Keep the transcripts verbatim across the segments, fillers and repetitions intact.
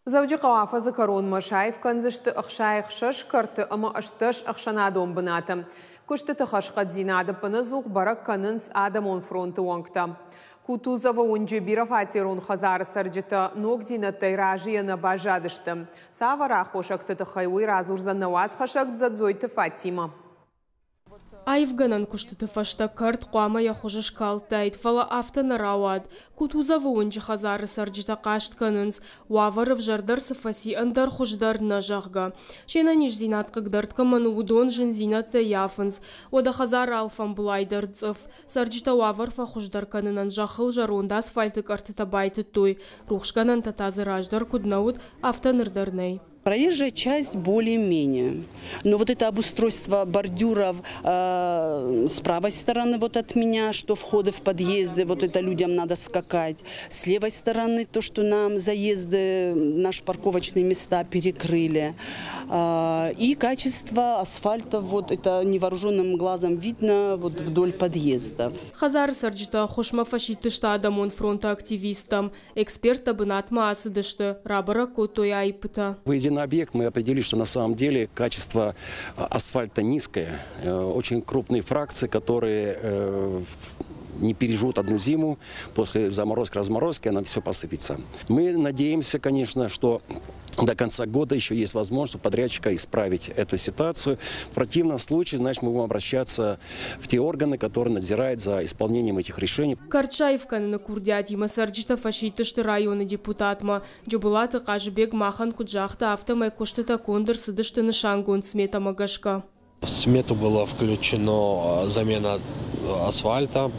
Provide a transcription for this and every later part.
Дзӕуджыхъӕуы афӕдзы кӕронмӕ саив кӕндзысты ӕхсай ӕхсӕз кӕрты ӕмӕ ӕстдӕс ӕхсӕнадон бынаты. Куыстыты хӕрзхъӕддзинад ӕппынӕдзух бӕрӕг кӕнынц Адӕмон фронты уӕнгтӕ. Кутузовы уынджы бирӕфатерон хӕдзары цӕрджытӕ ногдзинӕдтӕй разыйӕ нӕ баззадысты. Цавӕр аххосӕгты тыххӕй, уый радзурдзӕн нӕ уацхӕссӕг Дзӕдзойты Фатимӕ. Аивгӕнӕн куыстыты фӕстӕ кӕрт хъуамӕ йӕ хуыз скалдтаид, фӕлӕ афтӕ нӕ рауад. Кутузовы уынджы хӕдзары цӕрджытӕ хъаст кӕнынц, уавӕр ӕвзӕрдӕр цы фӕци, ӕндӕр хуыздӕр нӕ, зӕгъгӕ. Се нӕниздзинад хъыгдард кӕмӕн у, уыдон зындзинӕдтӕ ййафынц. Уӕдӕ хӕдзары алфӕмбылай дӕр цъыф. Цӕрджытӕ уавӕр фӕхуыздӕр кӕнынӕн зӕххыл зӕронд асфальты къӕртытӕ байтыдтой. Рухсгӕнӕнтӕ та дзы раздӕр куыд нӕ уыд, афтӕ ныр дӕр нӕй. Проезжая часть более-менее. Но вот это обустройство бордюров э, с правой стороны вот от меня, что входы в подъезды, вот это людям надо скакать. С левой стороны то, что нам заезды, наши парковочные места перекрыли. Э, и качество асфальта, вот это невооруженным глазом видно вот вдоль подъездов. Хӕдзары цӕрджытӕ ӕххуысмӕ фӕсидтысты Адӕмон фронты активисттӕм. Эксперттӕ бынатмӕ ацыдысты, рабӕрӕг кодтой аиппытӕ. Выйдя на объект, мы определили, что на самом деле качество асфальта низкое. Очень крупные фракции, которые не переживут одну зиму, после заморозки-разморозки она все посыпется. Мы надеемся, конечно, что до конца года еще есть возможность у подрядчика исправить эту ситуацию. В противном случае, значит, мы будем обращаться в те органы, которые надзирают за исполнением этих решений. Кӕрт саив кӕныны курдиатимӕ цӕрджытӕ фӕсидтысты районы депутатмӕ. Джыбылаты Хъазыбег махӕн куыд загъта, афтӕмӕй куыстытӕ конд ӕрцыдысты нысангонд сметӕмӕ гӕсгӕ. В смету было включено замена асфальта,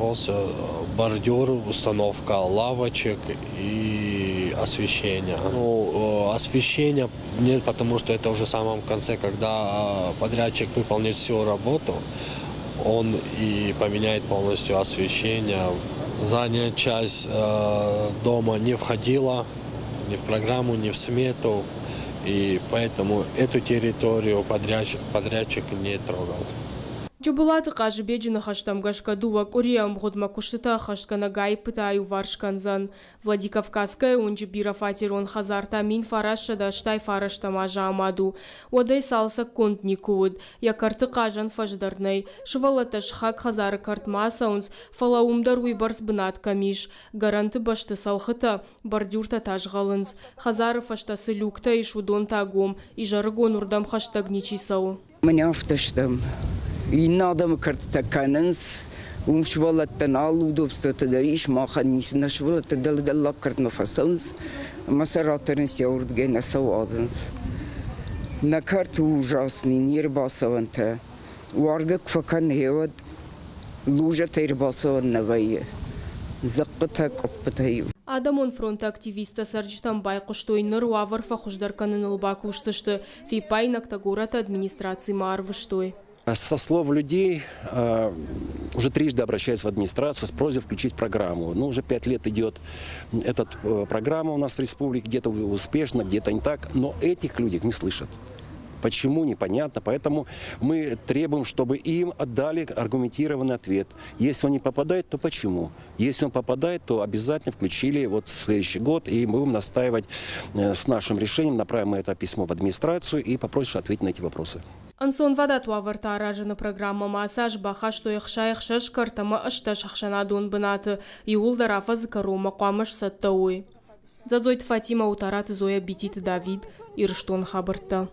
бордюр, установка лавочек и освещение. Ну, освещение нет, потому что это уже в самом конце, когда подрядчик выполнит всю работу, он и поменяет полностью освещение. Задняя часть э, дома не входила ни в программу, ни в смету, и поэтому эту территорию подрядчик, подрядчик не трогал. Джыбылаты Хъазыбеджы ныхӕстӕм гӕсгӕ дыууӕ къуырийы ӕмгъуыдмӕ куыстытӕ ӕххӕстгӕнӕг аиппытӕ аиуварс кӕндзӕн. Владикавказская уынджы бирӕфатерон хӕдзар та мин фарастсӕдӕ ӕстай фарӕстӕм азы амад у. Уӕдӕй цалцӕггонд никуы уыд. Йӕ кӕрты хъазӕн фӕз дӕр нӕй. Сывӕллӕттӕ сыхаг хӕдзары кӕртмӕ ацӕуынц, фӕлӕ уым дӕр уыйбӕрц бынат кӕм ис. Гӕрӕнты бӕсты цӕлхытӕ, бордюртӕ та згъӕлынц. Хӕдзары фӕстӕ цы люктӕ ис, уыдон та гом. Изӕрыгон уырдӕм хӕстӕг ничи цӕуы. Мӕнӕ афтӕ стӕм. Иннӕ адӕмы кӕртытӕ кӕнынц, уым сывӕллӕттӕн алы удобствотӕ дӕр ис, махӕн ницы. Нӕ сывӕллӕттӕ дӕлӕ дӕллаг кӕртмӕ фӕцӕуынц ӕмӕ сӕ ратӕрынц йӕ уырдыгӕй нӕ сӕ уадзынц. Нӕ кӕрт у ужасный, не рбацӕуӕнтӕ. Уаргӕ куы фӕкӕны, уӕд лужӕтӕй ӕрбацӕуӕн нӕ вӕййы. Дзыхъхъытӕ, къуыппытӕ-иу. Адӕмон фронты активисттӕ цӕрджытӕм байхъуыстой, ныр уавӕр фӕхуыздӕр кӕныныл бакусдзысты. Фиппаинӕгтӕ горӕты администрацимӕ арвыстой. Со слов людей э, уже трижды обращались в администрацию с просьбой включить программу. Ну, уже пять лет идет эта э, программа у нас в республике, где-то успешно, где-то не так, но этих людей не слышат. Почему, непонятно. Поэтому мы требуем, чтобы им отдали аргументированный ответ. Если он не попадает, то почему? Если он попадает, то обязательно включили вот в следующий год, и мы будем настаивать э, с нашим решением, направим мы это письмо в администрацию и попросим ответить на эти вопросы. Ӕнцонвадат уавӕртӕ аразыны программӕмӕ ацы аз бахастой ӕхсай ӕхсӕз кӕрт ӕмӕ ӕстдӕс ӕхсӕнадон бынаты. Иууылдӕр афӕдзы кӕронмӕ хъуамӕ сцӕттӕ уой. Дзӕдзойты Фатимӕ, Утараты Зоя, Бититы Давид, Ирыстоны хабӕрттӕ.